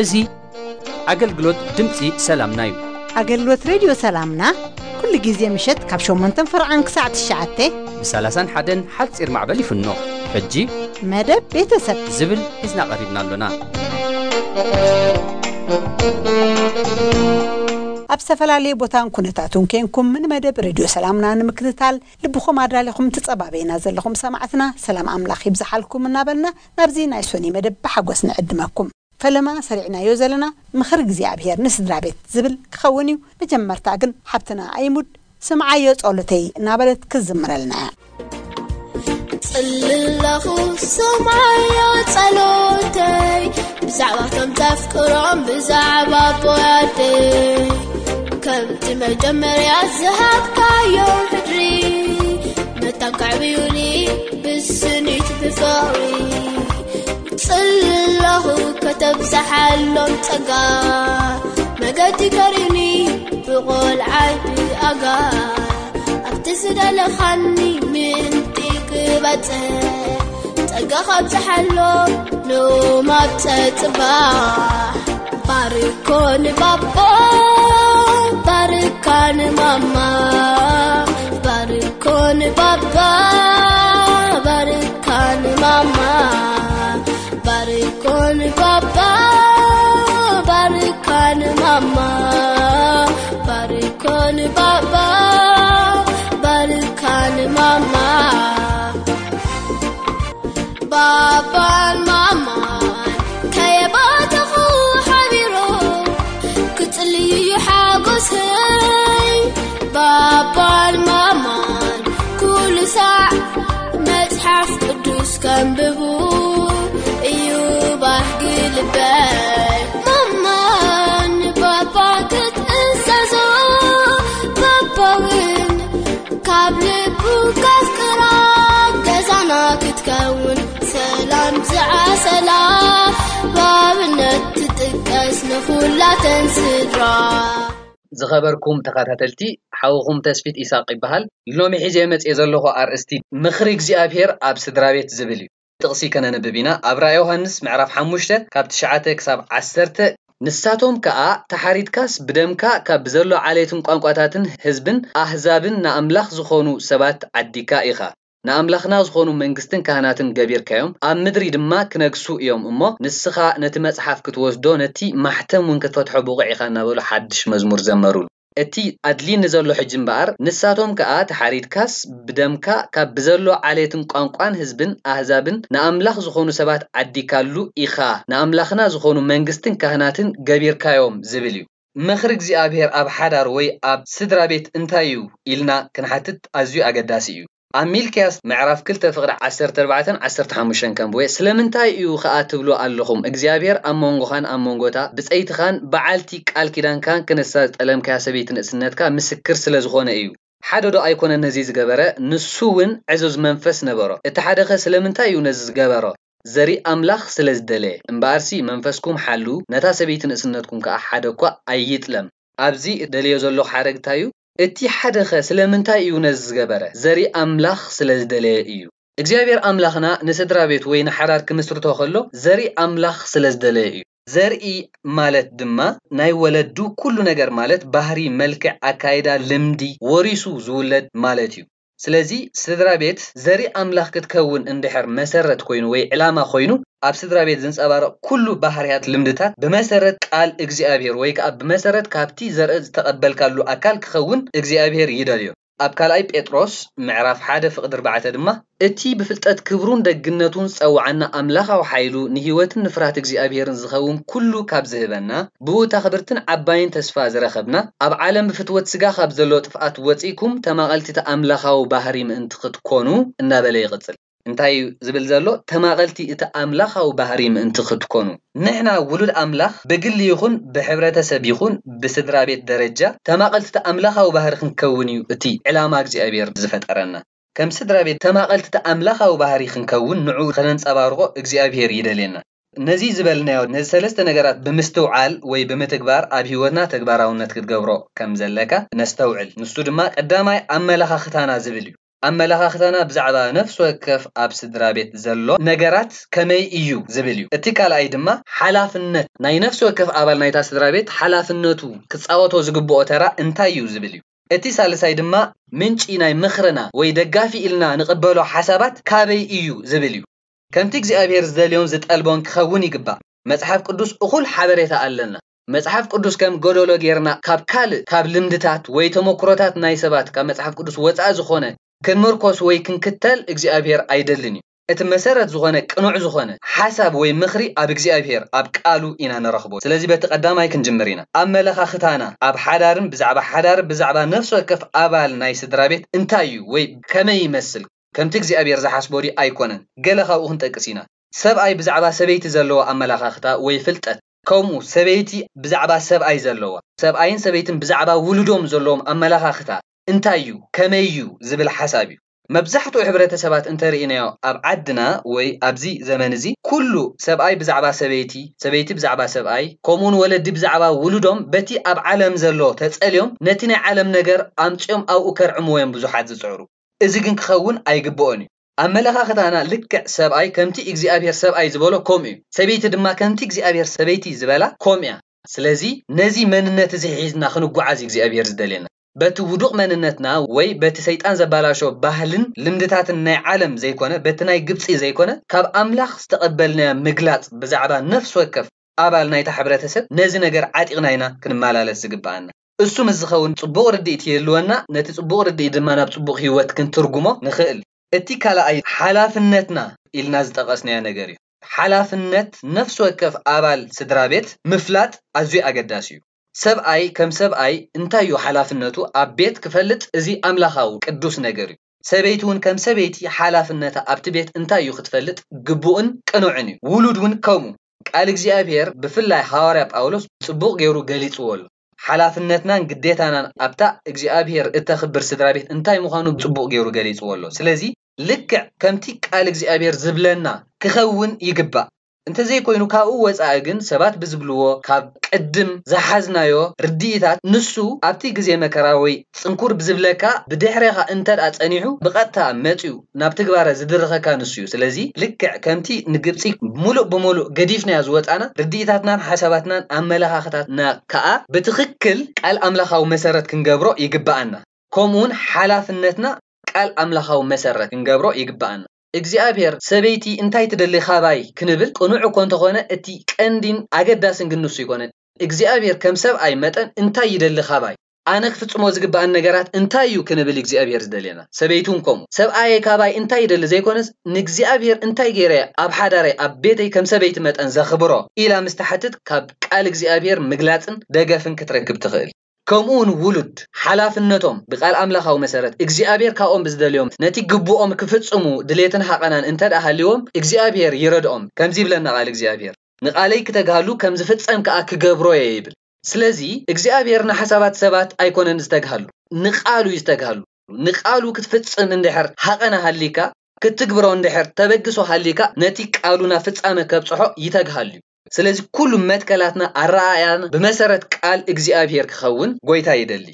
እዚ ኣገልግሎት ድምፂ ሰላምና እዩ። ኣገልግሎት ሬድዮ ሰላምና ኩሉ ግዜ ምሸት ካብ ሸሞንተን ፈርዓን ክሳዕ ትሽዓተ ብ ሰላሳን ሓደን ሓፂር ማዕበል ይፍኖ። ሕጂ መደብ ቤተሰብ ዝብል ሒዝና ቀሪብና ኣሎና። ኣብ ዝተፈላለየ ቦታን ኩነታቱን ኬንኩም ንመደብ ሬድዮ ሰላምና ንምክትታል ልብኹም ኣዳሊኹም ትጸባበዩና ዘለኹም ሰማዕትና ሰላም ኣምላኽ ይብዝሓልኩም እናበልና ናብዚ ናይ ሶኒ መደብ ብሓጎስ ንዕድመኩም። ፈለማ ሰሪዕናዮ ዘለና ምኽሪ እግዚኣብሔር ንስድራ ቤት ዝብል ክኸውን እዩ። መጀመርታ ግን ሓብትና ኣይሙድ ስምዓዮ ጸሎተይ እናበለት ክዝምረልና እያ። ጽልለኹ ስምዓዮ ጸሎተይ ብዛዕባ ከም ተፍቅሮም ብዛዕባ ኣቦይ ኣደይ ከምቲ መጀመርያ ዝሃብካዮ ሕድሪ መታን ከዕብዩኒ ብስኒት ብፍቕሪ ጽለኹ ከተብዝሓሎም ጸጋ መገዲ ከሪኒ ብቖልዓይ ብኣጋ ኣብቲ ዝደለኻኒ ምእንቲ ክበጽሕ ጸጋ ካብዝሓሎም ሎም ኣብ ጸጽባሕ ባርኮ ንባባ ባርካ ንማማ ባርኮ ንባባ ባርካ ንማማ ባርኮ ንባባ ባርካ ንማማ ባርኮ ንባባ ባርካ ንማማ ባባን ማማን ከየባተኹ ሓቢሮም ክጽልዩ ሓጎሰይ ባባን ማማን ኩሉ ሳዕ መጽሓፍ ቅዱስ ከንብቡ እዩ ባህጊ ልበይ ማማን ባባ ክትእዘዞ ባባውን ካብ ልቡ ከፍቅራ ገዛና ክትከውን ሰላም ዝዓሰላ ብኣብነት ትጥቀስ ንኹላተን ስድራ። ዝኸበርኩም ተኸታተልቲ ሓውኹም ተስፊት ኢሳቅ ይበሃል። ሎሚ ሒዘ መጽየ ዘለኹ ኣርእስቲ ምኽሪ እግዚኣብሔር ኣብ ስድራ ቤት ዝብል እዩ። ጥቕሲ ከነንብብ ኢና። ኣብ ራእይ ዮሃንስ ምዕራፍ ሓሙሽተ ካብ ትሽዓተ ክሳብ ዓሰርተ ንሳቶም ከኣ ተሓሪድካስ ብደምካ ካብ ብዘሎ ዓሌትን ቋንቋታትን ህዝብን ኣህዛብን ንኣምላኽ ዝኾኑ ሰባት ዓዲካ ኢኻ። ንኣምላኽና ዝኾኑ መንግስትን ካህናትን ገቢርካዮም፣ ኣብ ምድሪ ድማ ክነግሱ እዮም እሞ፣ ንስኻ ነቲ መጽሓፍ ክትወስዶ፣ ነቲ ማሕተም እውን ክትፈትሖ ብቑዕ ኢኻ እናበሉ ሓድሽ መዝሙር ዘመሩሉ። እቲ ኣድልይኒ ዘሎ ሕጂ እምበኣር፣ ንሳቶም ከኣ ተሓሪድካስ ብደምካ ካብ ብዘሎ ዓሌትን ቋንቋን ህዝብን ኣህዛብን ንኣምላኽ ዝኾኑ ሰባት ዓዲካሉ ኢኻ፣ ንኣምላኽና ዝኾኑ መንግስትን ካህናትን ገቢርካዮም ዝብል እዩ። ምኽሪ እግዚኣብሔር ኣብ ሓዳር ወይ ኣብ ስድራ ቤት እንታይ እዩ ኢልና ክንሓትት ኣዝዩ ኣገዳሲ እዩ። ኣብ ሚልክያስ ምዕራፍ ክልተ ፍቕዲ ዓሰርተ ኣርባዕተን ዓሰርተ ሓሙሽተን ከንብቦ እየ። ስለምንታይ እዩ ኸኣ ትብሉ ኣለኹም? እግዚኣብሔር ኣብ መንጎኻን ኣብ መንጎታ ብጸይትኻን በዓልቲ ቃል ኪዳንካን ክነሳ ዝጠለምካያ ሰበይቲ ንእስነትካ ምስክር ስለ ዝኾነ እዩ። ሓደ ዶ ኣይኮነን ነዚ ዝገበረ? ንሱ እውን ዕዙዝ መንፈስ ነበሮ። እቲ ሓደኸ ስለምንታይ እዩ ነዚ ዝገበሮ? ዘርኢ ኣምላኽ ስለ ዝደለየ። እምበኣርሲ መንፈስኩም ሓልው፣ ነታ ሰበይቲ ንእስነትኩም ከኣ ሓደ እኳ ኣይጥለም። ኣብዚ እደልዮ ዘለኹ ሓረግ እንታይ እዩ? እቲ ሓደኸ ስለምንታይ እዩ ነዚ ዝገበረ? ዘርኢ ኣምላኽ ስለ ዝደለየ እዩ። እግዚኣብሔር ኣምላኽና ንስድራ ቤት ወይ ንሓዳር ክምስርቶ ከሎ ዘርኢ ኣምላኽ ስለ ዝደለየ እዩ። ዘርኢ ማለት ድማ ናይ ወለዱ ኩሉ ነገር ማለት ባህሪ፣ መልክዕ፣ ኣካይዳ፣ ልምዲ ወሪሱ ዝውለድ ማለት እዩ። ስለዚ ስድራ ቤት ዘርኢ ኣምላኽ ክትከውን እንድሕር መሰረት ኮይኑ ወይ ዕላማ ኮይኑ ኣብ ስድራ ቤት ዝንጸባረቕ ኩሉ ባህርያት፣ ልምድታት ብመሰረት ቃል እግዚኣብሔር ወይ ከኣ ብመሰረት ካብቲ ዘርኢ ዝተቐበልካሉ ኣካል ክኸውን እግዚኣብሔር ይደልዮ። ኣብ ካልኣይ ጴጥሮስ ምዕራፍ ሓደ ፍቕዲ ኣርባዕተ ድማ፣ እቲ ብፍልጠት ክብሩን ደግነቱን ዝጸውዓና ኣምላኻዊ ሓይሉ፣ ንህይወትን ንፍርሃት እግዚኣብሔርን ዝኸውን ኩሉ ካብ ዝህበና፣ ብኡ እታ ክብርትን ዓባይን ተስፋ ዝረኸብና፣ ኣብ ዓለም ብፍትወት ስጋ ካብ ዘሎ ጥፍኣት ወጺእኩም፣ ተማቐልቲ እቲ ኣምላኻዊ ባህሪ ምእንቲ ክትኮኑ፣ እናበለ ይቕጽል። እንታይ እዩ ዝብል ዘሎ? ተማቐልቲ እቲ ኣምላኻዊ ባህሪ ምእንቲ ክትኮኑ። ንሕና ውሉድ ኣምላኽ ብግሊ ይኹን ብሕብረተሰብ ይኹን ብስድራ ቤት ደረጃ ተማቐልቲ እቲ ኣምላኻዊ ባህሪ ክንከውን እዩ እቲ ዕላማ እግዚኣብሔር ዝፈጠረና። ከም ስድራ ቤት ተማቐልቲ እቲ ኣምላኻዊ ባህሪ ክንከውን ንዑ ከነንጸባርቖ እግዚኣብሔር ይደልየና። ነዚ ዝበልናዮ ነዚ ሰለስተ ነገራት ብምስትውዓል ወይ ብምትግባር ኣብ ህይወትና ተግባራውነት ክትገብሮ ከም ዘለካ ነስተውዕል። ንሱ ድማ ቀዳማይ ኣመለኻኽታና ዝብል እዩ። ኣመለኻኽታና ብዛዕባ ነፍሲ ወከፍ ኣብ ስድራ ቤት ዘሎ ነገራት ከመይ እዩ ዝብል እዩ። እቲ ካልኣይ ድማ ሓላፍነት ናይ ነፍሲ ወከፍ ኣባል ናይታ ስድራ ቤት ሓላፍነቱ ክጻወቶ ዝግብኦ ተራ እንታይ እዩ ዝብል እዩ። እቲ ሳልሳይ ድማ ምንጪ ናይ ምኽርና ወይ ደጋፊ ኢልና ንቕበሎ ሓሳባት ካበይ እዩ ዝብል እዩ። ከምቲ እግዚኣብሔር ዝደልዮን ዝጠልቦን ክኸውን ይግባእ። መጽሓፍ ቅዱስ እኹል ሓበሬታ ኣለና። መጽሓፍ ቅዱስ ከም ጎደሎ ጌርና ካብ ካልእ፣ ካብ ልምድታት ወይ ተመክሮታት ናይ ሰባት ካብ መጽሓፍ ቅዱስ ወጻኢ ዝኾነ ክንምርኮስ ወይ ክንክተል እግዚኣብሔር ኣይደልን እዩ። እቲ መሰረት ዝኾነ ቅኑዕ ዝኾነ ሓሳብ ወይ ምኽሪ ኣብ እግዚኣብሔር ኣብ ቃሉ ኢና ንረኽቦ። ስለዚ በቲ ቀዳማይ ክንጅምር ኢና። ኣመለኻኽታና ኣብ ሓዳርን ብዛዕባ ሓዳር ብዛዕባ ነፍሲ ወከፍ ኣባል ናይ ስድራ ቤት እንታይ እዩ ወይ ከመይ ይመስል? ከምቲ እግዚኣብሔር ዝሓስቦ ድዩ ኣይኮነን? ገለ ካብኡ ክንጠቅስ ኢና። ሰብኣይ ብዛዕባ ሰበይቲ ዘለዎ ኣመለኻኽታ ወይ ፍልጠት፣ ከምኡ ሰበይቲ ብዛዕባ ሰብኣይ ዘለዋ፣ ሰብኣይን ሰበይትን ብዛዕባ ውሉዶም ዘለዎም ኣመለኻኽታ እንታይ እዩ፣ ከመይ እዩ ዝብል ሓሳብ እዩ። መብዛሕትኡ ሕብረተሰባት እንተርኢናዮ ኣብ ዓድና ወይ ኣብዚ ዘመን እዚ ኩሉ ሰብኣይ ብዛዕባ ሰበይቲ፣ ሰበይቲ ብዛዕባ ሰብኣይ፣ ከምኡውን ወለዲ ብዛዕባ ውሉዶም በቲ ኣብ ዓለም ዘሎ ተጸልዮም ነቲ ናይ ዓለም ነገር ኣምጺኦም ኣብኡ ከርዕምዎ እዮም ብዙሓት ዝጽዕሩ። እዚ ግን ክኸውን ኣይግብኦን እዩ። ኣመለኻኽታና ልክዕ ሰብኣይ ከምቲ እግዚኣብሔር ሰብኣይ ዝበሎ ከምኡ እዩ። ሰበይቲ ድማ ከምቲ እግዚኣብሔር ሰበይቲ ዝበላ ከምኡ እያ። ስለዚ ነዚ መንነት እዚ ሒዝና ክንጓዓዝ እዩ እግዚኣብሔር ዝደልየና። በቲ ውዱቕ መንነትና ወይ በቲ ሰይጣን ዘባላሾ ባህልን ልምድታትን ናይ ዓለም ዘይኮነ፣ በቲ ናይ ግብጺ ዘይኮነ፣ ካብ ኣምላኽ ዝተቐበልናዮ ምግላጽ ብዛዕባ ነፍሲ ወከፍ ኣባል ናይታ ሕብረተሰብ ነዚ ነገር ዓጢቕና ኢና ክንመላለስ ዝግብኣና። እሱ ምስ ዝኸውን ጽቡቕ ርድኢት ይህልወና፣ ነቲ ጽቡቕ ርድኢት ድማ ናብ ጽቡቕ ህይወት ክንትርጉሞ ንኽእል። እቲ ካልኣይ ሓላፍነትና ኢልና ዝጠቐስናዮ ነገር እዩ። ሓላፍነት ነፍሲ ወከፍ ኣባል ስድራ ቤት ምፍላጥ ኣዝዩ ኣገዳሲ እዩ። ሰብኣይ ከም ሰብኣይ እንታይ እዩ ሓላፍነቱ ኣብ ቤት ክፈልጥ፣ እዚ ኣምላኻዊ ቅዱስ ነገር እዩ። ሰበይቲ እውን ከም ሰበይቲ ሓላፍነታ ኣብቲ ቤት እንታይ እዩ ክትፈልጥ ግቡእን ቅኑዕን እዩ። ውሉድ እውን ከምኡ። ቃል እግዚኣብሔር ብፍላይ ሃዋርያ ጳውሎስ ጽቡቕ ገይሩ ገሊጽዎ ኣሎ። ሓላፍነትናን ግዴታናን ኣብታ እግዚኣብሔር እተኽብር ስድራ ቤት እንታይ ምዃኑ ጽቡቕ ገይሩ ገሊጽዎ ኣሎ። ስለዚ ልክዕ ከምቲ ቃል እግዚኣብሔር ዝብለና ክኸውን ይግባእ። እንተዘይኮይኑ ካብኡ ወጻኢ ግን ሰባት ብዝብልዎ ካብ ቅድም ዝሓዝናዮ ርድኢታት ንሱ ኣብቲ ግዜ መከራ ወይ ጽንኩር ብዝብለካ ብድሕሬኻ እንተ ደኣ ጸኒሑ ብቐጥታ መጺኡ ናብ ትግባረ ዝድርኸካ ንሱ እዩ። ስለዚ ልክዕ ከምቲ ንግብጺ ሙሉእ ብሙሉእ ገዲፍናዮ ዝወጻና ርድኢታትናን ሓሳባትናን ኣመለኻኽታትና ከኣ ብትኽክል ቃል ኣምላኻዊ መሰረት ክንገብሮ ይግብኣና። ከምኡውን ሓላፍነትና ቃል ኣምላኻዊ መሰረት ክንገብሮ ይግብኣና። እግዚኣብሔር ሰበይቲ እንታይ ትደሊ ካባይ ክንብል ቅኑዕ እኮ እንተኾነ እቲ ቀንዲን ኣገዳስን ግን ንሱ ይኮነን። እግዚኣብሔር ከም ሰብኣይ መጠን እንታይ ይደሊ ካባይ? ኣነ ክፍጽሞ ዝግብኣን ነገራት እንታይ እዩ ክንብል እግዚኣብሔር ዝደልየና። ሰበይቲ እውን ከምኡ። ሰብኣየ ካባይ እንታይ ይደሊ ዘይኮነስ ንእግዚኣብሔር እንታይ ገይረ ኣብ ሓዳረይ ኣብ ቤተይ ከም ሰበይቲ መጠን ዘኽብሮ ኢላ ምስ ትሓትት ካብ ቃል እግዚኣብሔር ምግላጽን ደገፍን ክትረክብ ትኽእል። ከምኡ እውን ውሉድ ሓላፍነቶም ብቃል ኣምላኻዊ መሰረት እግዚኣብሔር ካብኦም ብዝደልዮም ነቲ ግቡኦም ክፍጽሙ ድሌትን ሃቐናን እንተ ደኣ ሃልዎም እግዚኣብሔር ይረድኦም። ከምዚ ይብለና ቃል እግዚኣብሔር፣ "ንቃለይ ክተግሃሉ ከም ዝፍጸም ከኣ ክገብሮ እየ" ይብል። ስለዚ እግዚኣብሔር ንሓሳባት ሰባት ኣይኮነን ዝተግሃሉ፣ ንቃሉ እዩ ዝተግሃሉ። ንቃሉ ክትፍጽም እንድሕር ሃቐና ሃሊካ፣ ክትግብሮ እንድሕር ተበግሶ ሃሊካ፣ ነቲ ቃሉ ናብ ፍጻመ ከብጽሖ ይተግሃሉ እዩ። ስለዚ ኩሉ መትከላትና ኣረኣእያን ብመሰረት ቃል እግዚኣብሔር ክኸውን ጎይታ ይደሊ።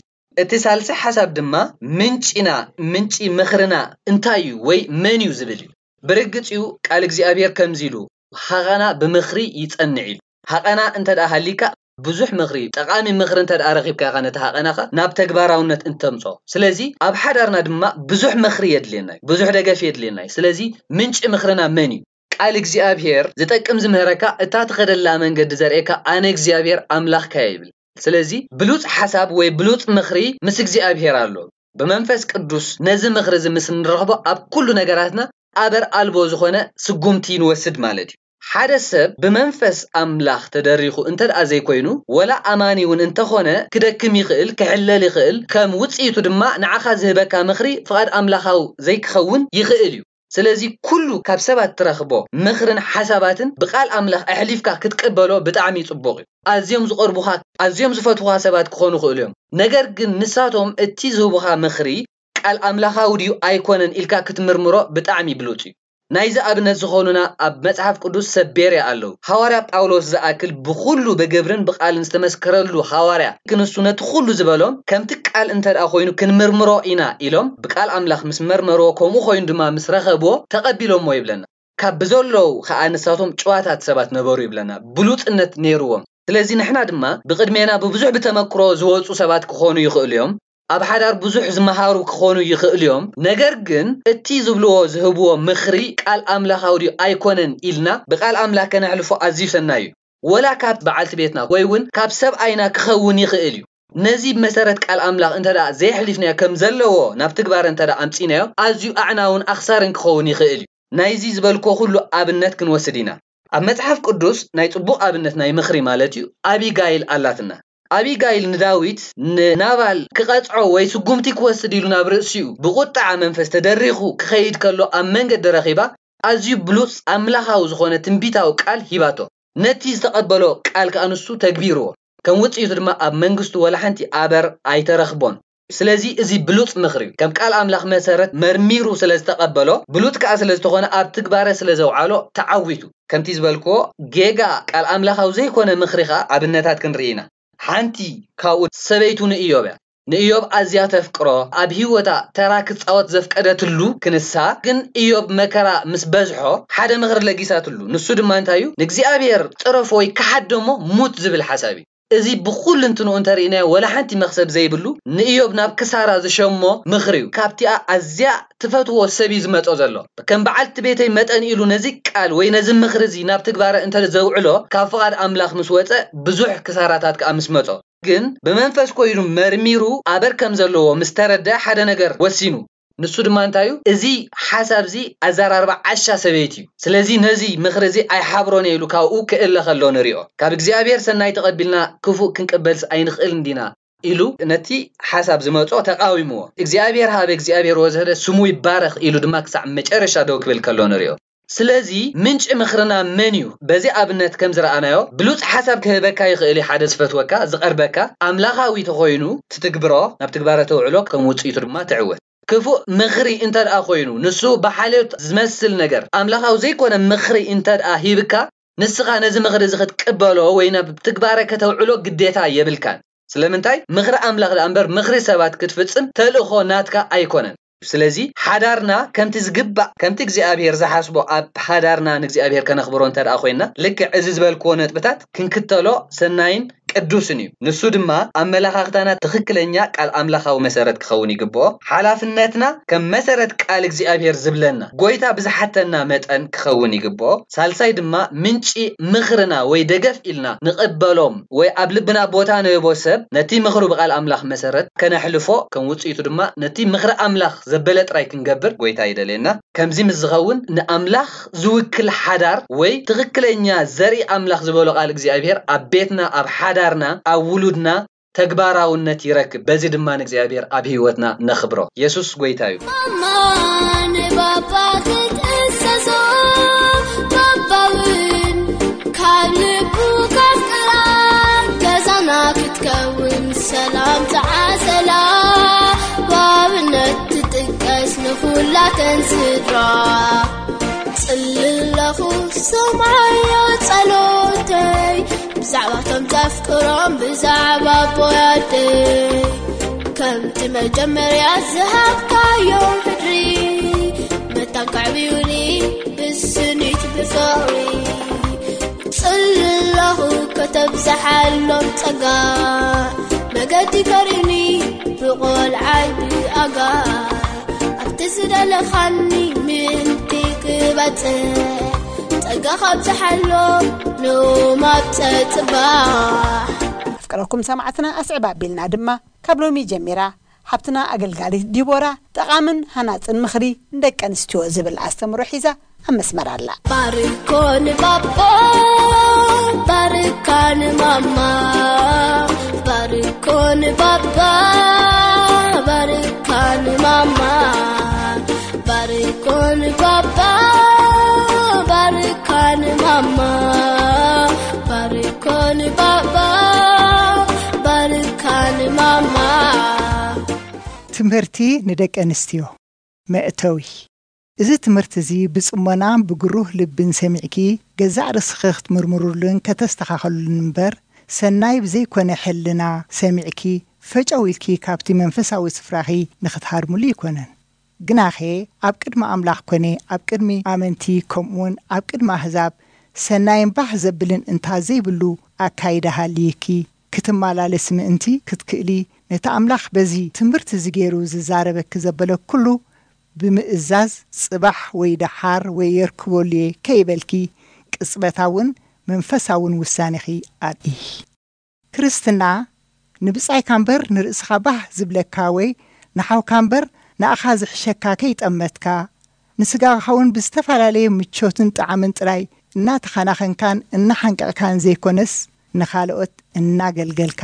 እቲ ሳልሲ ሓሳብ ድማ ምንጪና፣ ምንጪ ምኽርና እንታይ እዩ ወይ መን እዩ ዝብል እዩ። ብርግጽ እዩ ቃል እግዚኣብሔር ከምዚ ኢሉ፣ "ሃቐና ብምኽሪ ይጸንዕ" ኢሉ። ሃቐና እንተ ደኣ ሃሊካ ብዙሕ ምኽሪ፣ ጠቓሚ ምኽሪ እንተ ደኣ ረኺብካ ኢኻ ነቲ ሃቐናኻ ናብ ተግባራውነት እንተምጾ። ስለዚ ኣብ ሓዳርና ድማ ብዙሕ ምኽሪ የድልየና እዩ፣ ብዙሕ ደገፍ የድልየና እዩ። ስለዚ ምንጪ ምኽርና መን እዩ? ቃል እግዚኣብሔር ዝጠቅም ዝምህረካ፣ እታ ትኸደላ መንገዲ ዘርእየካ ኣነ እግዚኣብሔር ኣምላኽካ እየ ይብል። ስለዚ ብሉጽ ሓሳብ ወይ ብሉጽ ምኽሪ ምስ እግዚኣብሔር ኣሎ። ብመንፈስ ቅዱስ ነዚ ምኽሪ እዚ ምስ እንረኽቦ ኣብ ኩሉ ነገራትና ኣበር ኣልቦ ዝኾነ ስጉምቲ ንወስድ ማለት እዩ። ሓደ ሰብ ብመንፈስ ኣምላኽ ተደሪኹ እንተ ደኣ ዘይኮይኑ፣ ወላ ኣማኒ እውን እንተኾነ ክደክም ይኽእል፣ ክሕለል ይኽእል፣ ከም ውጽኢቱ ድማ ንዓኻ ዝህበካ ምኽሪ ፍቓድ ኣምላኻዊ ዘይክኸውን ይኽእል እዩ። ስለዚ ኩሉ ካብ ሰባት ትረኽቦ ምኽርን ሓሳባትን ብቃል ኣምላኽ ኣሕሊፍካ ክትቅበሎ ብጣዕሚ ጽቡቕ እዩ። ኣዝዮም ዝቐርቡኻ፣ ኣዝዮም ዝፈትዉኻ ሰባት ክኾኑ ይኽእሉ እዮም። ነገር ግን ንሳቶም እቲ ዝህቡኻ ምኽሪ ቃል ኣምላኻዊ ድዩ ኣይኮነን ኢልካ ክትምርምሮ ብጣዕሚ ብሉጽ እዩ። ናይዚ ኣብነት ዝኾኑና ኣብ መጽሓፍ ቅዱስ ሰብ ቤርያ ኣለዉ። ሃዋርያ ጳውሎስ ዝኣክል ብኹሉ ብግብርን ብቓልን ዝተመስከረሉ ሃዋርያ ክንሱ ነቲ ኩሉ ዝበሎም ከምቲ ቃል እንተ ደኣ ኮይኑ ክንምርምሮ ኢና ኢሎም ብቃል ኣምላኽ ምስ መርመርዎ ከምኡ ኮይኑ ድማ ምስ ረኸብዎ ተቐቢሎምዎ ይብለና። ካብ ብዘለዉ ከኣ ንሳቶም ጭዋታት ሰባት ነበሩ ይብለና። ብሉጽነት ነይርዎም። ስለዚ ንሕና ድማ ብቕድሜና ብብዙሕ ብተመክሮ ዝወጹ ሰባት ክኾኑ ይኽእሉ እዮም። ኣብ ሓዳር ብዙሕ ዝመሃሩ ክኾኑ ይኽእሉ እዮም። ነገር ግን እቲ ዝብልዎ ዝህብዎ ምኽሪ ቃል ኣምላኻዊ ድዩ ኣይኮነን ኢልና ብቃል ኣምላኽ ከነሕልፎ ኣዝዩ ሰናይ እዩ። ወላ ካብ በዓልቲ ቤትና ወይ እውን ካብ ሰብኣይና ክኸውን ይኽእል እዩ። ነዚ ብመሰረት ቃል ኣምላኽ እንተ ደኣ ዘየሕሊፍናዮ ከም ዘለዎ ናብ ትግባረ እንተ ደኣ ኣምጺእናዮ ኣዝዩ ኣዕናውን ኣኽሳርን ክኸውን ይኽእል እዩ። ናይዚ ዝበልክዎ ኩሉ ኣብነት ክንወስድ ኢና። ኣብ መጽሓፍ ቅዱስ ናይ ጽቡቕ ኣብነት ናይ ምኽሪ ማለት እዩ ኣቢጋይል ኣላትና። ኣቢጋይል ንዳዊት ንናባል ክቐጽዖ ወይ ስጉምቲ ክወስድ ኢሉ ናብ ርእሲኡ ብቁጥዓ መንፈስ ተደሪኹ ክኸይድ ከሎ ኣብ መንገዲ ረኺባ ኣዝዩ ብሉጽ ኣምላኻዊ ዝኾነ ትንቢታዊ ቃል ሂባቶ። ነቲ ዝተቐበሎ ቃል ከኣ ንሱ ተግቢርዎ። ከም ውጽኢቱ ድማ ኣብ መንግስቱ ወላ ሓንቲ ኣበር ኣይተረኽቦን። ስለዚ እዚ ብሉጽ ምኽሪ እዩ። ከም ቃል ኣምላኽ መሰረት መርሚሩ ስለ ዝተቐበሎ፣ ብሉጽ ከኣ ስለ ዝኾነ ኣብ ትግባረ ስለ ዘውዓሎ ተዓዊቱ። ከምቲ ዝበልክዎ ጌጋ ቃል ኣምላኻዊ ዘይኮነ ምኽሪ ከኣ ኣብነታት ክንርኢ ኢና። ሓንቲ ካብኡ ሰበይቱ ንእዮብ እያ። ንእዮብ ኣዝያ ተፍቅሮ፣ ኣብ ህይወታ ተራ ክጻወት ዘፍቀደትሉ ክንሳ፣ ግን እዮብ መከራ ምስ በዝሖ ሓደ ምኽሪ ለጊሳትሉ። ንሱ ድማ እንታይ እዩ? ንእግዚኣብሔር ጽረፎ ወይ ክሓደሞ ሙት ዝብል ሓሳብ እዩ። እዚ ብኹሉ እንትንኡ እንተርኢናዮ ወላ ሓንቲ መኽሰብ ዘይብሉ ንእዮብ ናብ ክሳራ ዝሸሞ ምኽሪ እዩ። ካብቲኣ ኣዝያ ትፈትዎ ሰብ እዩ ዝመጾ ዘሎ። ከም በዓልቲ ቤተይ መጠን ኢሉ ነዚ ቃል ወይ ነዚ ምኽሪ እዚ ናብ ትግባረ እንተ ዘውዕሎ ካብ ፍቓድ ኣምላኽ ምስ ወጸ ብዙሕ ክሳራታት ከኣ ምስ መጾ ግን ብመንፈስ ኮይኑ መርሚሩ ኣበር ከም ዘለዎ ምስ ተረደ ሓደ ነገር ወሲኑ። ንሱ ድማ እንታይ እዩ? እዚ ሓሳብ እዚ ኣዘራርባ ዓሻ ሰበይቲ እዩ። ስለዚ ነዚ ምኽሪ እዚ ኣይሓብሮን እየ ኢሉ ካብኡ ክእለ ከሎ ንሪኦ። ካብ እግዚኣብሔር ሰናይ ተቐቢልና ክፉእ ክንቅበልስ ኣይንኽእል እንዲና ኢሉ ነቲ ሓሳብ ዝመጾ ተቃዊምዎ። እግዚኣብሔር ሃበ እግዚኣብሔር ወዘደ ስሙ ይባረኽ ኢሉ ድማ ክሳዕ መጨረሻ ደው ክብል ከሎ ንሪኦ። ስለዚ ምንጪ ምኽርና መን እዩ? በዚ ኣብነት ከም ዝረኣናዮ ብሉጽ ሓሳብ ክህበካ ይኽእል እዩ። ሓደ ዝፈትወካ ዝቐርበካ ኣምላኻዊ ተኾይኑ ትትግብሮ ናብ ትግባረ ተውዕሎ ከም ውጽኢቱ ድማ ትዕወት። ክፉእ ምኽሪ እንተ ደኣ ኮይኑ ንሱ ብሓልዮት ዝመስል ነገር ኣምላኻዊ ዘይኮነ ምኽሪ እንተ ደኣ ሂብካ ንስኻ ነዚ ምኽሪ እዚ ክትቅበሎ ወይ ናብ ትግባረ ከተውዕሎ ግዴታ የብልካን። ስለምንታይ? ምኽሪ ኣምላኽ ደኣ እምበር ምኽሪ ሰባት ክትፍጽም ተልእኾ ናትካ ኣይኮነን። ስለዚ ሓዳርና ከምቲ ዝግባእ ከምቲ እግዚኣብሔር ዝሓስቦ ኣብ ሓዳርና ንእግዚኣብሔር ከነኽብሮ እንተ ደኣ ኮይንና ልክዕ እዚ ዝበልክዎ ነጥብታት ክንክተሎ ሰናይን ቅዱስን እዩ። ንሱ ድማ ኣመለኻኽታና ትኽክለኛ ቃል ኣምላኻዊ መሰረት ክኸውን ይግብኦ። ሓላፍነትና ከም መሰረት ቃል እግዚኣብሔር ዝብለና ጎይታ ብዝሓተና መጠን ክኸውን ይግብኦ። ሳልሳይ ድማ ምንጪ ምኽርና ወይ ደገፍ ኢልና ንቕበሎም ወይ ኣብ ልብና ቦታ ንህቦ ሰብ ነቲ ምኽሩ ብቓል ኣምላኽ መሰረት ከነሕልፎ ከም ውጽኢቱ ድማ ነቲ ምኽሪ ኣምላኽ ዘበለ ጥራይ ክንገብር ጎይታ ይደልየና። ከምዚ ምስ ዝኸውን ንኣምላኽ ዝውክል ሓዳር ወይ ትኽክለኛ ዘርኢ ኣምላኽ ዝበሎ ቃል እግዚኣብሔር ኣብ ቤትና ኣብ ሓዳርና ኣብ ውሉድና ተግባራውነት ይረክብ። በዚ ድማ ንእግዚኣብሔር ኣብ ህይወትና ነኽብሮ። የሱስ ጎይታ እዩ። ማማ ንባባ ክትእሰሶ ባባውን ካብ ልቡ ከፍቅራ ገዛና ክትከውን ሰላም ተዓሰላ ብኣብነት ትጥቀስ ንኹላተን ስድራ ጽልለኹ ሰማዮ ጸሎተይ ብዛዕባቶም ዘፍቅሮም ብዛዕባ ኣቦይ ኣደይ ከምቲ መጀመርያ ዝሃብካዮም ሕድሪ መታን ከዕብዩኒ ብስኒት ብፍቕሪ ጽልለኹ ከተብዝሓሎም ጸጋ መገዲ ከሪኒ ብቖልዓይ ብኣጋ ኣብቲ ዝደለኻኒ ምእንቲ ክበጽሕ ጸጋ ካብዝሓሎም ሎም ኣብ ጸጽባሕ ኣፍቀረኩም ሰማዕትና ኣስዕብ ኣቢልና ድማ ካብ ሎሚ ጀሚራ ሓብትና ኣገልጋሊት ዲቦራ ጠቓምን ሃናጽን ምኽሪ ንደቂ ኣንስትዮ ዝብል ኣስተምሮ ሒዛ ኣብ መስመር ኣላ። ባርኮ ንባባ ባርካ ንማማ ባርኮ ንባባ ባርካ ንማማ ባርኮ ንባባ ባርካ ንማማ ባርኮ ንባባ ባርካ ንማማ እቲ ትምህርቲ ንደቂ ኣንስትዮ። መእተዊ። እዚ ትምህርቲ እዚ ብጽሞናን ብግሩህ ልብን ሰሚዕኪ፣ ገዛእ ርእስኺ ክትምርምሩሉን ከተስተኻኸሉሉን እምበር፣ ሰናይ ብዘይኮነ ሕልና ሰሚዕኪ፣ ፈጨው ኢልኪ ካብቲ መንፈሳዊ ስፍራኺ ንኽትሃድሙሉ ኣይኮነን። ግናኸ ኣብ ቅድሚ ኣምላኽ ኮነ ኣብ ቅድሚ ኣመንቲ፣ ከምኡውን ኣብ ቅድሚ ኣህዛብ ሰናይን ባህ ዘብልን እንታ ዘይብሉ ኣካይዳ ሃልይኪ ክትመላለሲ ምእንቲ ክትክእሊ፣ ነቲ ኣምላኽ በዚ ትምህርቲ እዚ ገይሩ ዝዛረበኪ ዘበለ ኩሉ ብምእዛዝ፣ ጽባሕ ወይ ደሓር ወይ የርክበሉ'የ ከይበልኪ፣ ቅጽበታውን መንፈሳውን ውሳኔኺ ኣርእዪ። ክርስትና ንብጻይካ እምበር ንርእስኻ ባህ ዝብለካ ወይ ንሓውካ እምበር ንኣኻ ዝሕሸካ ከይጠመትካ፣ ንስጋኻ እውን ብዝተፈላለየ ምቾትን ጣዕምን ጥራይ እናተኸናኸንካን እናሓንቀቕካን ዘይኮነስ፣ ንኻልኦት እናገልገልካ፣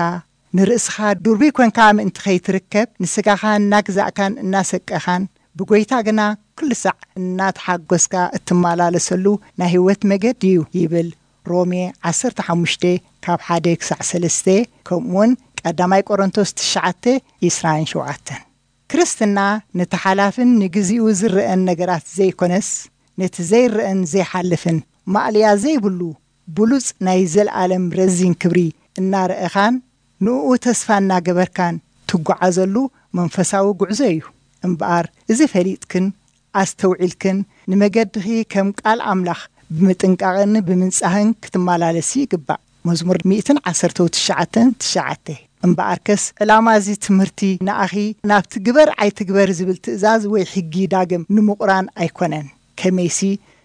ንርእስኻ ድሩይ ኮንካ ምእንቲ ከይትርከብ፣ ንስጋኻ እናግዛእካን እናሰቀኻን፣ ብጎይታ ግና ኩሉ ሳዕ እናተሓጎስካ እትመላለሰሉ ናይ ህይወት መገዲ እዩ ይብል ሮሜ ዓሰርተ ሓሙሽተ ካብ ሓደ ክሳዕ ሰለስተ፣ ከምኡውን ቀዳማይ ቆሮንቶስ ትሽዓተ፣ ዕስራን ሸውዓተን። ክርስትና ነቲ ሓላፍን ንግዚኡ ዝረኣን ነገራት ዘይኮነስ፣ ነቲ ዘይረኣን ዘይሓልፍን ማእለያ ዘይብሉ ብሉጽ ናይ ዘለኣለም ረዚን ክብሪ እናረኣኻን ንእኡ ተስፋ እናገበርካን ትጓዓዘሉ መንፈሳዊ ጉዕዞ እዩ። እምበኣር፣ እዚ ፈሊጥክን ኣስተውዒልክን ንመገድኺ ከም ቃል ኣምላኽ ብምጥንቃቕን ብምንጻህን ክትመላለሲ ይግባእ። መዝሙር ሚእትን ዓሰርተ ትሽዓተን ትሽዓተ። እምበኣርከስ፣ ዕላማ እዚ ትምህርቲ ንኣኺ ናብቲ ግበር ኣይትግበር ዝብል ትእዛዝ ወይ ሕጊ ዳግም ንምቑራን ኣይኮነን። ከመይሲ፣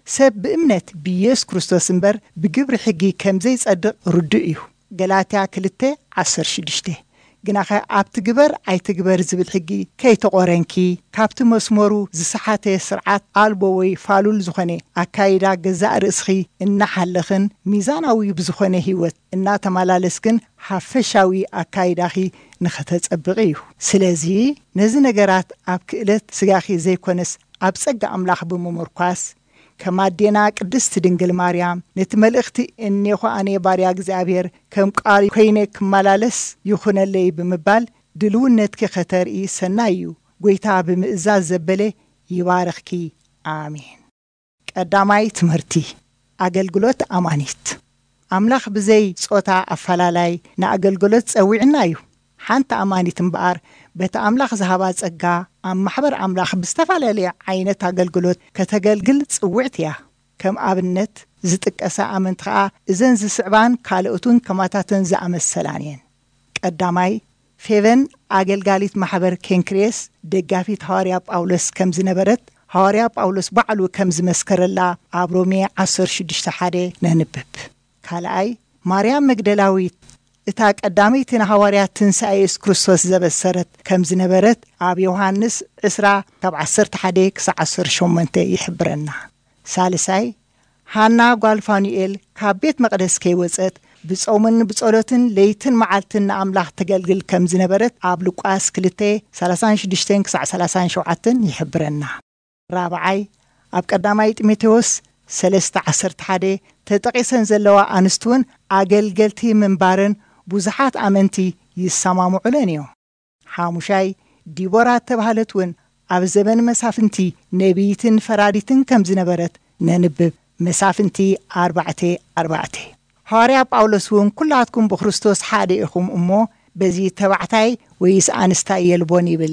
ሰብ ብእምነት ብኢየሱስ ክርስቶስ እምበር ብግብሪ ሕጊ ከም ዘይጸድቕ ርዱእ እዩ። ገላትያ ክልተ ዓሰርተ ሽዱሽተ። ግናኸ ኣብቲ ግበር ኣይትግበር ዝብል ሕጊ ከይተቖረንኪ፣ ካብቲ መስመሩ ዝሰሓተ ስርዓት ኣልቦ ወይ ፋሉል ዝኾነ ኣካይዳ ገዛእ ርእስኺ እናሓለኽን ሚዛናዊ ብዝኾነ ህይወት እናተመላለስክን ሓፈሻዊ ኣካይዳኺ ንኸተጸብቒ እዩ። ስለዚ ነዚ ነገራት ኣብ ክእለት ስጋኺ ዘይኮነስ ኣብ ጸጋ ኣምላኽ ብምምርኳስ፣ ከም ኣዴና ቅድስቲ ድንግል ማርያም፣ ነቲ መልእኽቲ "እኔኹ ኣነ ባርያ እግዚኣብሔር፣ ከም ቃል ኮይነ ክመላለስ ይኹነለይ" ብምባል ድልውነትኪ ከተርኢ ሰናይ እዩ። ጎይታ ብምእዛዝ ዘበለ ይባርኽኪ። ኣሜን። ቀዳማይ ትምህርቲ፣ ኣገልግሎት ኣማኒት። ኣምላኽ ብዘይ ጾታ ኣፈላላይ ንኣገልግሎት ጸዊዕና እዩ። ሓንቲ ኣማኒት እምበኣር፣ በቲ ኣምላኽ ዝሃባ ጸጋ፣ ኣብ ማሕበር ኣምላኽ ብዝተፈላለየ ዓይነት ኣገልግሎት ከተገልግል ጽውዕቲ እያ። ከም ኣብነት ዝጥቀሳ ኣመንቲ ኸኣ፣ እዘን ዝስዕባን ካልኦትን ከማታተን ዝኣመሰላን እየን። ቀዳማይ፣ ፌቨን ኣገልጋሊት ማሕበር ኬንክሬስ፣ ደጋፊት ሃዋርያ ጳውሎስ ከም ዝነበረት፣ ሃዋርያ ጳውሎስ ባዕሉ ከም ዝመስከረላ ኣብ ሮሜ ዓሰርተ ሽዱሽተ ሓደ ነንብብ። ካልኣይ፣ ማርያም መግደላዊት፣ እታ ቀዳመይቲ ንሃዋርያት ትንሳኤ የሱስ ክርስቶስ ዘበሰረት ከም ዝነበረት፣ ኣብ ዮሃንስ ዕስራ ካብ ዓሰርተ ሓደ ክሳዕ ዓሰርተ ሸሞንተ ይሕብረና። ሳልሳይ፣ ሃና ጓል ፋኑኤል ካብ ቤት መቕደስ ከይወጸት፣ ብጾምን ብጸሎትን ለይትን መዓልትን ንኣምላኽ ተገልግል ከም ዝነበረት፣ ኣብ ሉቃስ ክልተ ሰላሳን ሽዱሽተን ክሳዕ ሰላሳን ሸውዓተን ይሕብረና። ራብዓይ፣ ኣብ ቀዳማይ ጢሞቴዎስ ሰለስተ ዓሰርተ ሓደ ተጠቒሰን ዘለዋ ኣንስቲ እውን ኣገልገልቲ ምንባረን ብዙሓት ኣመንቲ ይሰማምዑለን እዮም። ሓሙሻይ፣ ዲቦራ እተባህለት እውን ኣብ ዘበን መሳፍንቲ ነቢይትን ፈራዲትን ከም ዝነበረት ነንብብ። መሳፍንቲ ኣርባዕተ ኣርባዕተ። ሃዋርያ ጳውሎስ እውን፣ "ኩላትኩም ብክርስቶስ ሓደ ኢኹም እሞ፣ በዚ ተባዕታይ ወይስ ኣንስታይ የልቦን" ይብል።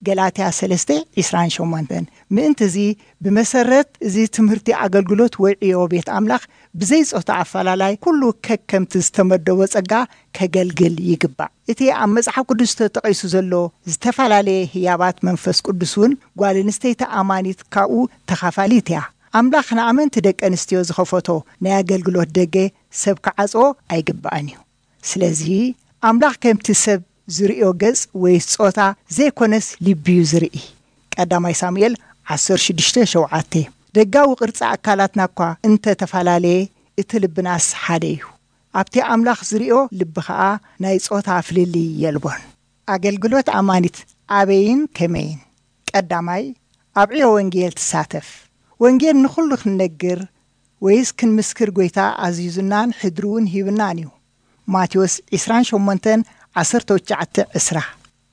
ገላትያ ሰለስተ ዕስራን ሸሞንተን። ምእንቲ እዚ፣ ብመሰረት እዚ ትምህርቲ ኣገልግሎት ወይ ዕዮ ቤት ኣምላኽ፣ ብዘይ ጾታ ኣፈላላይ፣ ኩሉ ከከምቲ ዝተመደቦ ጸጋ ከገልግል ይግባእ። እቲ ኣብ መጽሓፍ ቅዱስ ተጠቒሱ ዘሎ ዝተፈላለየ ህያባት መንፈስ ቅዱስ እውን፣ ጓል ኣንስተይቲ ኣማኒት ካብኡ ተኻፋሊት እያ። ኣምላኽ ንኣመንቲ ደቂ ኣንስትዮ ዝኸፈቶ ናይ ኣገልግሎት ደገ ሰብ ክዓጽዎ ኣይግባእን እዩ። ስለዚ፣ ኣምላኽ ከምቲ ሰብ ዝርእዮ ገጽ ወይ ጾታ ዘይኮነስ፣ ልቢ እዩ ዝርኢ። ቀዳማይ ሳሙኤል ዓሰርተ ሽዱሽተ ሸውዓተ። ደጋዊ ቅርጺ ኣካላትና እኳ እንተ ተፈላለየ፣ እቲ ልብናስ ሓደ እዩ። ኣብቲ ኣምላኽ ዝርእዮ ልቢ ኸኣ ናይ ጾታ ፍልልይ የልቦን። ኣገልግሎት ኣማኒት ኣበይን ከመይን? ቀዳማይ፣ ኣብ ዕዮ ወንጌል ትሳተፍ። ወንጌል ንኹሉ ክንነግር ወይስ ክንምስክር ጎይታ ኣዚዙናን ሕድሪ እውን ሂብናን እዩ። ማቴዎስ ዕስራን ሸሞንተን ዓሰርተ ትሽዓተ ዕስራ።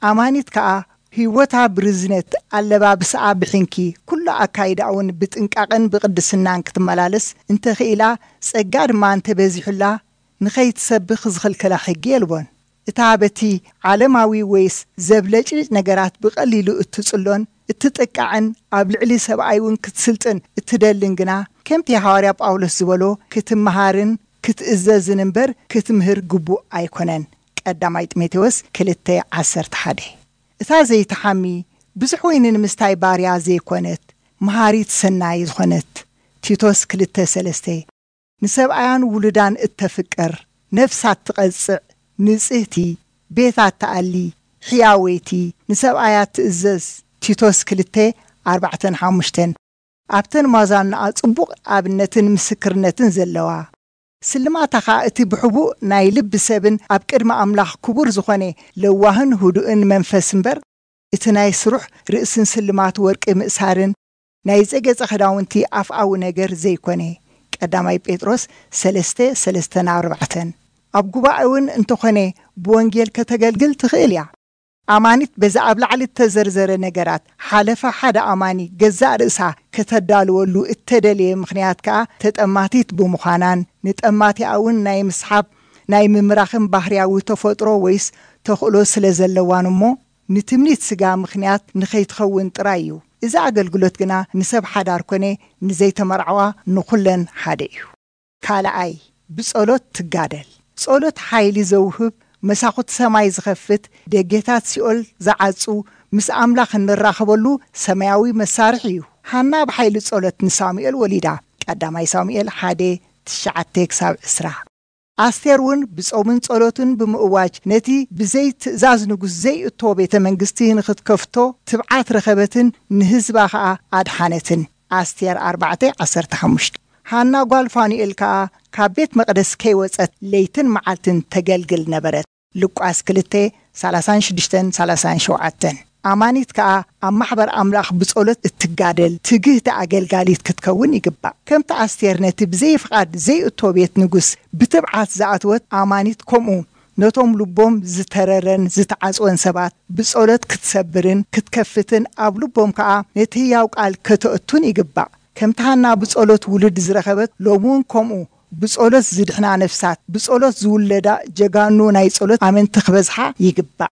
ኣማኒት ከኣ ህይወታ ብርዝነት፣ ኣለባብስኣ ብሕንኪ፣ ኩሉ ኣካይዳኣ እውን ብጥንቃቕን ብቕድስናን ክትመላለስ እንተኽኢላ፣ ጸጋ ድማ እንተበዚሑላ፣ ንኸይትሰብኽ ዝኽልክላ ሕጊ የልቦን። እታ በቲ ዓለማዊ ወይስ ዘብለጭልጭ ነገራት ብቐሊሉ እትጽሎን እትጥቃዕን ኣብ ልዕሊ ሰብኣይ እውን ክትስልጥን እትደልን ግና፣ ከምቲ ሃዋርያ ጳውሎስ ዝበሎ፣ ክትመሃርን ክትእዘዝን እምበር ክትምህር ግቡእ ኣይኮነን። ቀዳማይ ጢሞቴዎስ ክልተ ዓሰርተ ሓደ። እታ ዘይትሓሚ፣ ብዙሕ ወይኒ ንምስታይ ባርያ ዘይኮነት፣ መሃሪት ሰናይ ዝኾነት፣ ቲቶስ ክልተ ሰለስተ፣ ንሰብኣያን ውሉዳን እተፍቅር፣ ነፍሳ ትቐጽዕ፣ ንጽህቲ፣ ቤታ ትኣሊ፣ ሕያወይቲ፣ ንሰብኣያ ትእዘዝ፣ ቲቶስ ክልተ ኣርባዕተን ሓሙሽተን። ኣብተን ማዛናኣ ጽቡቕ ኣብነትን ምስክርነትን ዘለዋ፣ ስልማታ ኸኣ እቲ ብሕቡእ ናይ ልቢ ሰብን ኣብ ቅድሚ ኣምላኽ ክቡር ዝኾነ ለዋህን ህዱእን መንፈስ እምበር፣ እቲ ናይ ስሩሕ ርእስን ስልማት ወርቂ ምእሳርን ናይ ዘገጸ ክዳውንቲ ኣፍኣዊ ነገር ዘይኮነ። ቀዳማይ ጴጥሮስ ሰለስተ፣ ሰለስተ ናብ ኣርባዕተን። ኣብ ጉባኤ እውን እንተኾነ ብወንጌል ከተገልግል ትኽእል እያ። ኣማኒት በዛ ኣብ ላዕሊ እተዘርዘረ ነገራት ሓለፋ ሓደ ኣማኒ ገዛእ ርእሳ ከተዳልወሉ እተደለየ ምኽንያት ከኣ ተጠማቲት ብምዃናን ንጠማቲኣ እውን ናይ ምስሓብ ናይ ምምራኽን ባህርያዊ ተፈጥሮ ወይስ ተኽእሎ ስለ ዘለዋን እሞ ንትምኒት ስጋ ምኽንያት ንኸይትኸውን ጥራይ እዩ። እዚ ኣገልግሎት ግና ንሰብ ሓዳር ኮነ ንዘይተመርዓዋ ንኹለን ሓደ እዩ። ካልኣይ፣ ብጸሎት ትጋደል። ጸሎት ሓይሊ ዘውህብ፣ መሳኹቲ ሰማይ ዝኸፍት፣ ደጌታት ሲኦል ዝዓጹ፣ ምስ ኣምላኽ እንራኸበሉ ሰማያዊ መሳርሒ እዩ። ሃና ብሓይሊ ጸሎት ንሳሙኤል ወሊዳ። ቀዳማይ ሳሙኤል ሓደ፣ ትሽዓተ ክሳብ ዕስራ። ኣስቴር እውን ብጾምን ጸሎትን ብምእዋጅ ነቲ ብዘይ ትእዛዝ ንጉስ ዘይእቶ ቤተ መንግስቲ ንኽትከፍቶ ትብዓት ረኸበትን ንህዝባ ኸኣ ኣድሓነትን። ኣስቴር ኣርባዕተ፣ ዓሰርተ ሓሙሽተ። ሃና ጓል ፋኑኤል ከኣ ካብ ቤት መቕደስ ከይወጸት ለይትን መዓልትን ተገልግል ነበረት። ሉቃስ ክልተ፣ ሰላሳን ሽዱሽተን ሰላሳን ሸውዓተን። ኣማኒት ከኣ ኣብ ማሕበር ኣምላኽ ብጸሎት እትጋደል ትግህቲ ኣገልጋሊት ክትከውን ይግባእ። ከምቲ ኣስቴር ነቲ ብዘይ ፍቓድ ዘይእቶ ቤት ንጉስ ብትብዓት ዝኣተወት ኣማኒት፣ ከምኡ ነቶም ልቦም ዝተረረን ዝተዓጽወን ሰባት ብጸሎት ክትሰብርን ክትከፍትን ኣብ ልቦም ከኣ ነቲ ህያው ቃል ከተእቱን ይግባእ። ከምቲ ሃና ብጸሎት ውሉድ ዝረኸበት፣ ሎሚ እውን ከምኡ ብጸሎት ዝድሕና ነፍሳት፣ ብጸሎት ዝውለዳ ጀጋኑ ናይ ጸሎት ኣመንቲ ክበዝሓ ይግባእ።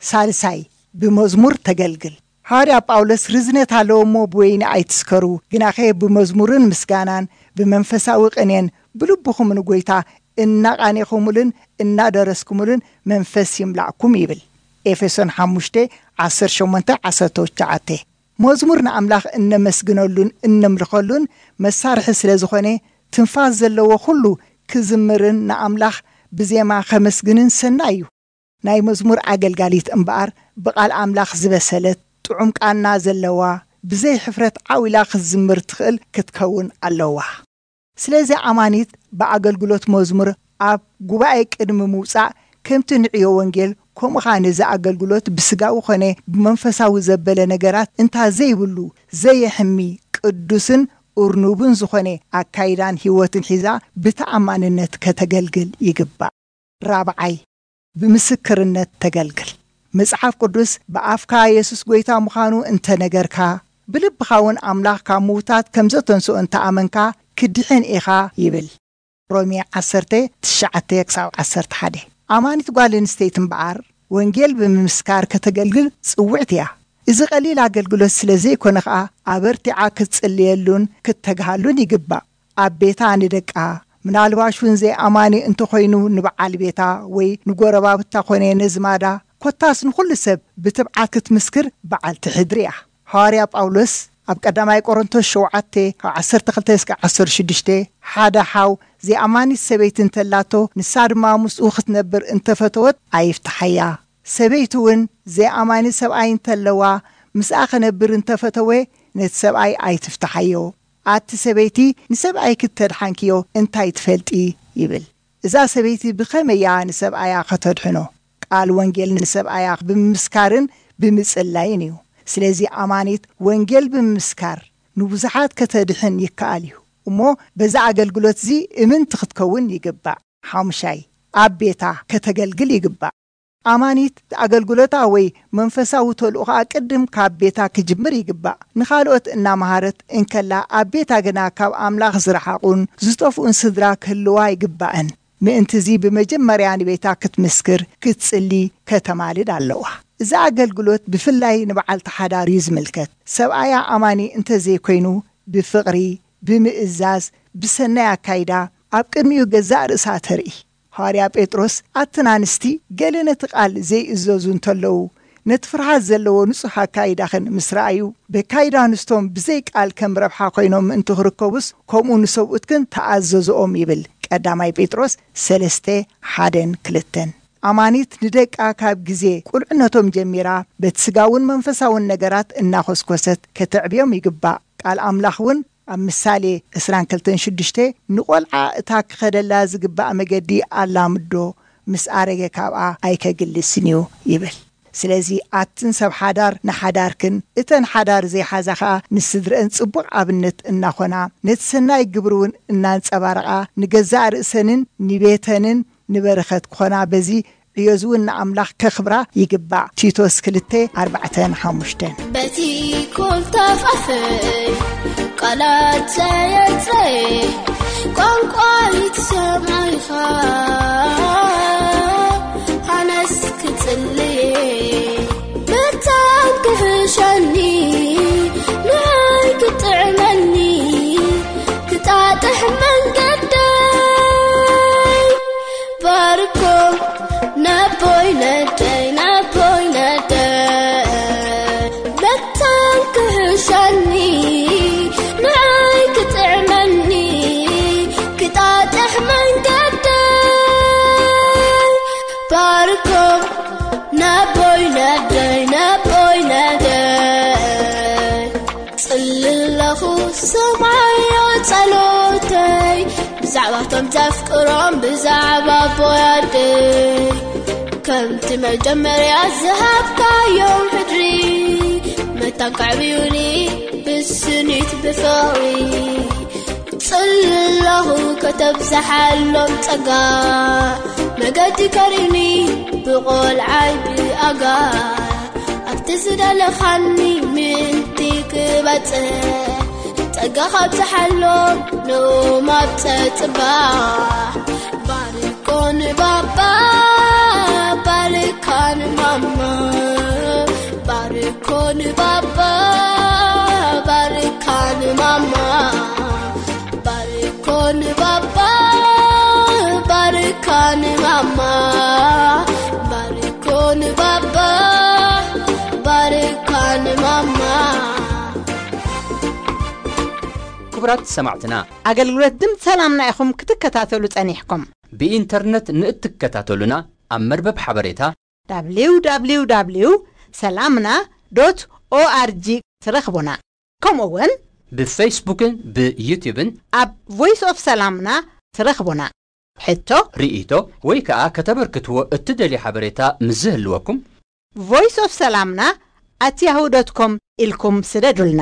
ሳልሳይ፣ ብመዝሙር ተገልግል። ሃዋርያ ጳውሎስ፣ ርዝነት ኣለዎ እሞ ብወይኒ ኣይትስከሩ፣ ግናኸ ብመዝሙርን ምስጋናን ብመንፈሳዊ ቅኔን ብልብኹም ንጎይታ እናቓኔኹምሉን እናደረስኩምሉን መንፈስ ይምላእኩም ይብል። ኤፌሶን ሓሙሽተ፣ ዓሰርተ ሸሞንተ፣ ዓሰርተ ትሽዓተ። መዝሙር ንኣምላኽ እነመስግነሉን እነምልኸሉን መሳርሒ ስለ ዝኾነ፣ ትንፋስ ዘለዎ ኩሉ ክዝምርን ንኣምላኽ ብዜማ ከመስግንን ሰናይ እዩ። ናይ መዝሙር ኣገልጋሊት እምበኣር፣ ብቓል ኣምላኽ ዝበሰለት፣ ጥዑም ቃና ዘለዋ፣ ብዘይ ሕፍረት ዓው ኢላ ክትዝምር ትኽእል ክትከውን ኣለዋ። ስለዚ ኣማኒት ብኣገልግሎት መዝሙር ኣብ ጉባኤ ቅድሚ ምውጻእ፣ ከምቲ ንዕዮ ወንጌል፣ ከምኡ ኸኣ ነዚ ኣገልግሎት ብስጋዊ ኾነ ብመንፈሳዊ ዘበለ ነገራት እንታ ዘይብሉ፣ ዘየሕሚ፣ ቅዱስን እርኑብን ዝኾነ ኣካይዳን ህይወትን ሒዛ ብተኣማንነት ከተገልግል ይግባእ። ራብዓይ፣ ብምስክርነት ተገልግል። መጽሓፍ ቅዱስ፣ "ብኣፍካ የሱስ ጐይታ ምዃኑ እንተ ነገርካ፣ ብልብኻ እውን ኣምላኽ ካብ ምዉታት ከም ዘተንስኦ እንተ ኣመንካ፣ ክትድሕን ኢኻ" ይብል። ሮሜ ዓሰርተ፣ ትሽዓተ ክሳብ ዓሰርተ ሓደ። ኣማኒት ጓል ኣንስተይቲ እምበኣር፣ ወንጌል ብምምስካር ከተገልግል ጽውዕቲ እያ። እዚ ቀሊል ኣገልግሎት ስለ ዘይኮነ ኸኣ፣ ኣበርቲዓ ክትጽልየሉን ክትተግሃሉን ይግባእ። ኣብ ቤታ ንደቃ፣ ምናልባሽ እውን ዘይኣማኒ እንተኾይኑ ንበዓል ቤታ ወይ ንጎረባብታ ኮነ ነዝማዳ፣ ኮታስ ንኹሉ ሰብ ብትብዓት ክትምስክር በዓልቲ ሕድሪ እያ። ሃዋርያ ጳውሎስ ኣብ ቀዳማይ ቆሮንቶስ ሸውዓተ፣ ካብ ዓሰርተ ክልተ እስከ ዓሰርተ ሽዱሽተ፣ ሓደ ሓው ዘይኣማኒት ሰበይቲ እንተላቶ፣ ንሳ ድማ ምስኡ ክትነብር እንተፈተወት ኣይፍትሓያ። ሰበይቲ እውን ዘይኣማኒ ሰብኣይ እንተለዋ፣ ምስኣ ክነብር እንተፈተወ፣ ነቲ ሰብኣይ ኣይትፍትሓዮ። ኣቲ ሰበይቲ፣ ንሰብኣይኪ እተድሓንክዮ እንታይ ትፈልጢ? ይብል። እዛ ሰበይቲ ብኸመይ እያ ንሰብኣያ ከተድሕኖ? ቃል ወንጌል ንሰብኣያ ብምምስካርን ብምጽላይን እዩ። ስለዚ ኣማኒት ወንጌል ብምምስካር ንብዙሓት ከተድሕን ይከኣል እዩ። እሞ በዛ ኣገልግሎት እዚ እምንቲ ክትከውን ይግባእ። ሓሙሻይ፣ ኣብ ቤታ ከተገልግል ይግባእ። ኣማኒት ኣገልግሎታ ወይ መንፈሳዊ ተልእኾኣ ቅድም ካብ ቤታ ክጅምር ይግባእ። ንኻልኦት እናመሃረት እንከላ፣ ኣብ ቤታ ግና ካብ ኣምላኽ ዝረሓቑን ዝጠፍኡን ስድራ ክህልዋ ኣይግባእን። ምእንትዚ ብመጀመርያ ንቤታ ክትምስክር፣ ክትጽሊ፣ ከተማልድ ኣለዋ። እዚ ኣገልግሎት ብፍላይ ንበዓልቲ ሓዳር እዩ ዝምልከት። ሰብኣያ ኣማኒ እንተዘይኮይኑ፣ ብፍቕሪ፣ ብምእዛዝ፣ ብሰናይ ኣካይዳ ኣብ ቅድሚኡ ገዛእ ርእሳ ተርኢ። ሃዋርያ ጴጥሮስ፣ ኣትን ኣንስቲ ገለ ነቲ ቃል ዘይእዘዙ እንተለዉ፣ ነቲ ፍርሃት ዘለዎ ንጹሕ ኣካይዳኽን ምስ ረኣዩ፣ በካይዳ ኣንስቶም ብዘይ ቃል ከም ረብሓ ኮይኖም ምእንቲ ክርከቡስ፣ ከምኡ ንሰብኡትክን ተኣዘዝኦም ይብል። ቀዳማይ ጴጥሮስ ሰለስተ፣ ሓደን ክልተን። ኣማኒት ንደቃ ካብ ግዜ ቁልዕነቶም ጀሚራ በቲ ስጋውን መንፈሳውን ነገራት እናኾስኮሰት ከተዕብዮም ይግባእ። ቃል ኣምላኽ እውን ኣብ ምሳሌ ዕስራን ክልተን ሽዱሽተ፣ ንቆልዓ እታ ክኸደላ ዝግባእ መገዲ ኣላምዶ፣ ምስ ኣረገ ካብኣ ኣይከግልስን እዩ ይብል። ስለዚ ኣትን ሰብ ሓዳር ንሓዳርክን፣ እተን ሓዳር ዘይሓዛ ኸኣ ንስድረአን ጽቡቕ ኣብነት እናኾና፣ ነቲ ሰናይ ግብሪ እውን እናንጸባረቓ፣ ንገዛእ ርእሰንን ንቤተንን ንበረኸት ክኾና፣ በዚ ዕዮዝ እውን ንኣምላኽ ከኽብራ ይግባእ። ቲቶስ ክልተ፣ ኣርባዕተን ሓሙሽተን። በቲ ኮልታፍ ኣፈይ ቃላት ዘየጽረየ ቋንቋ ይትሰምዖ ኢኻ። ሃነስ ክጽልየ መታን ክሕሸኒ ንዓይ ክጥዕመኒ ክጣጥሕ መንገደይ ባርኮ ነቦይ ነደይ ነቦይ ነደይ መታን ክሕሸኒ ንዓይ ክጥዕመኒ ክጣጥሕ መንገደይ ባርኮ ነቦይ ነደይ ነቦይ ነደይ ጽልለኹ ሰማዮ ጸሎተይ ብዛዕባቶም ዘፍቅሮም ብዛዕባ ኣቦይ ኣደይ ከምቲ መጀመርያ ዝሃብካዮም ሕድሪ መታን ከዕብዩኒ ብስኒት ብፍቕሪ ጽላኹ ከተብዝሓሎም ጸጋ መገዲ ከርእዩኒ ብቖልዓይ ብኣጋ ኣብቲ ዝደለኻኒ ምእንቲ ክበጽሕ ጸጋ ካብዝሓሎም ንኡም ኣብ ጸጽባሕ ባርኮ ንባባ ባርካ ንማማ ባርኮ ንባባ ባርካ ንማማ ባርኮ ንባባ ባርካ ንማማ ባርኮ ንባባ ባርካ ንማማ ክቡራት ሰማዕትና ኣገልግሎት ድምፂ ሰላምና ኢኹም ክትከታተሉ ጸኒሕኩም። ብኢንተርነት ንእትከታተሉና ኣብ መርበብ ሓበሬታ www ሰላምና ዶት ኦኣርጂ ትረኽቡና። ከምኡ እውን ብፌስቡክን ብዩቲብን ኣብ ቮይስ ኦፍ ሰላምና ትረኽቡና። ሕቶ፣ ርእይቶ ወይ ከዓ ከተበርክትዎ እትደልዩ ሓበሬታ ምስ ዝህልወኩም ቮይስ ኦፍ ሰላምና ኣት ያሁ ዶት ኮም ኢልኩም ስደዱልና።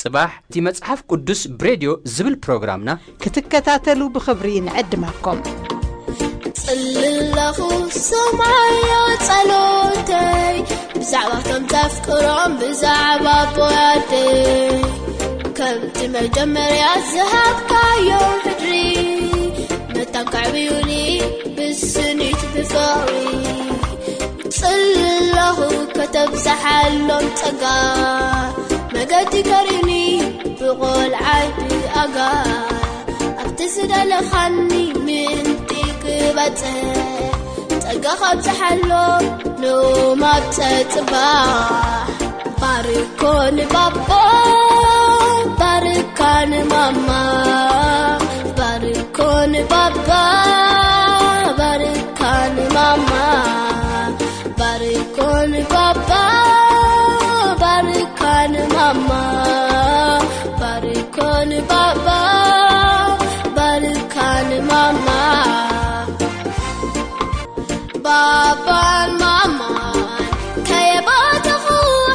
ጽባሕ እቲ መጽሓፍ ቅዱስ ብሬድዮ ዝብል ፕሮግራምና ክትከታተሉ ብኽብሪ ንዕድመኩም። ጽልለኹ ሰማዮ ጸሎተይ ብዛዕባቶም ዘፍቅሮም ብዛዕባ ኣቦያደይ ከምቲ መጀመርያ ዝሃብካዮም ሕድሪ መታን ከዕብዩኒ ብስኒት ብፍቕሪ ጽለኹ ከተብዝሓሎም ጸጋ መገዲ ከርእዩኒ ብቖልዓይ ብኣጋ ኣብቲ ዝደለኻኒ ምእንቲ ክበጽሕ ጸጋ ካብዝሓሎም ንኡም ኣብ ጸጽባሕ ባርኮ ንባባ ባርካ ንማማ ባርኮ ንባባ ባርካ ንማማ ባርኮ ንባባ ባርካ ንማማ ባርኮ ንባባ ባርካ ንማማ ባባን ማማን ከየባተኹ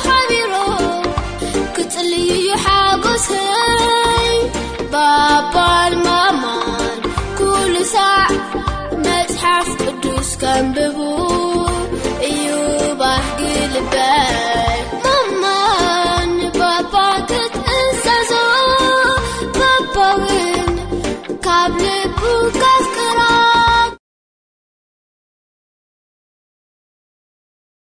ሓቢሮም ክጽልዩ ሓጎሰይ ባባን ማማን ኩሉ ሳዕ መጽሓፍ ቅዱስ ከንብቡ